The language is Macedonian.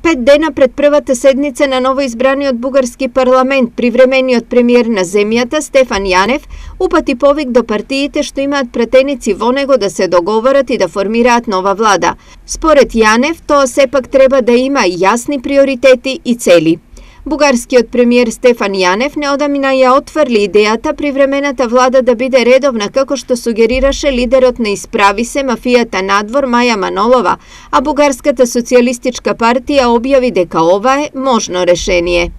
5 дена пред првата седница на новоизбраниот бугарски парламент, привремениот премиер на земјата Стефан Јанев упати повик до партиите што имаат пратеници во него да се договорат и да формираат нова влада. Според Јанев, тоа сепак треба да има јасни приоритети и цели. Бугарскиот премиер Стефан Јанев неодамина ја отфрли идејата привремената влада да биде редовна, како што сугерираше лидерот на Исправи се мафијата надвор Маја Манолова, а Бугарската социјалистичка партија објави дека ова е можно решение.